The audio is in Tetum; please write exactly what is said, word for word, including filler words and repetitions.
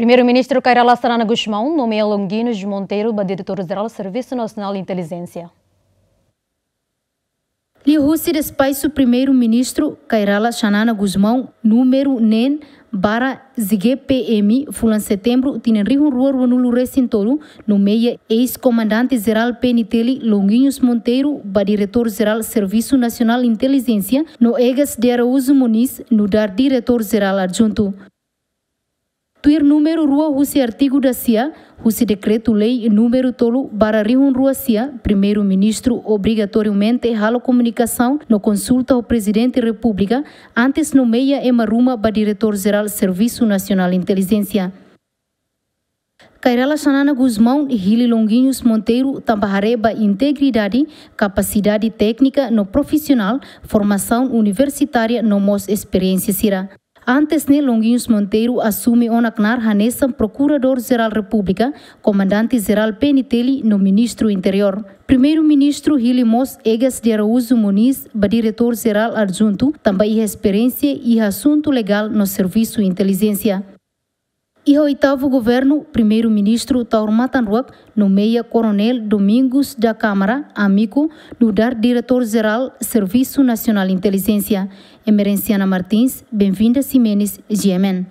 Primeiru-Ministru Kay Rala Xanana Gusmão nomeia Longuinhos Monteiro ba Diretór Jerál Servisu Nasionál Intelijénsia. Liuhusi despaxu Primeiru-Ministru Kay Rala Xanana Gusmão númeru neen barra Z G P M, fulan Setembru tinan rihun rua ruanulu resin tolu, nomeia eis-komandante jerál P N T L Longuinhos Monteiro ba Diretór Jerál Servisu Nasionál Intelijénsia, no Egas de Araújo Moniz nu'udar Diretór Jerál Adjuntu. Tuir númeru rua husi artigu dasia, husi Dekretu-Lei númeru tolu barra rihun rua sia, Primeiru-Ministru obrigatoriamente halo komunikasaun no konsulta ho Prezidente Repúblika antes nomeia ema ruma ba Diretór Jerál Servisu Nasionál Intelijénsia. Kay Rala Xanana Gusmão hili Longuinhos Monteiro tanba haree ba integridade, kapasidade téknika no profisionál, formasaun universitária no mós esperiénsia sira. Antes ne'e, Longuinhos Monteiro asume ona knaar hanesan Prokuradór Jerál Repúblika, Komandante Jerál P N T L no Ministru Interiór. Primeiru-Ministru hili mós Egas de Araújo Moniz ba Diretór Jerál Adjuntu, tanba iha esperiénsia iha asuntu legál no servisu intelijénsia. Iha oitavu governu, Primeiru-Ministru Taur Matan Ruak nomeia Koronél Domingos da Câmara Amico nu'udar Diretór Jerál Servisu Nasionál Intelijénsia. Emerenciana Martins, Benvinda Ximenes, G M N.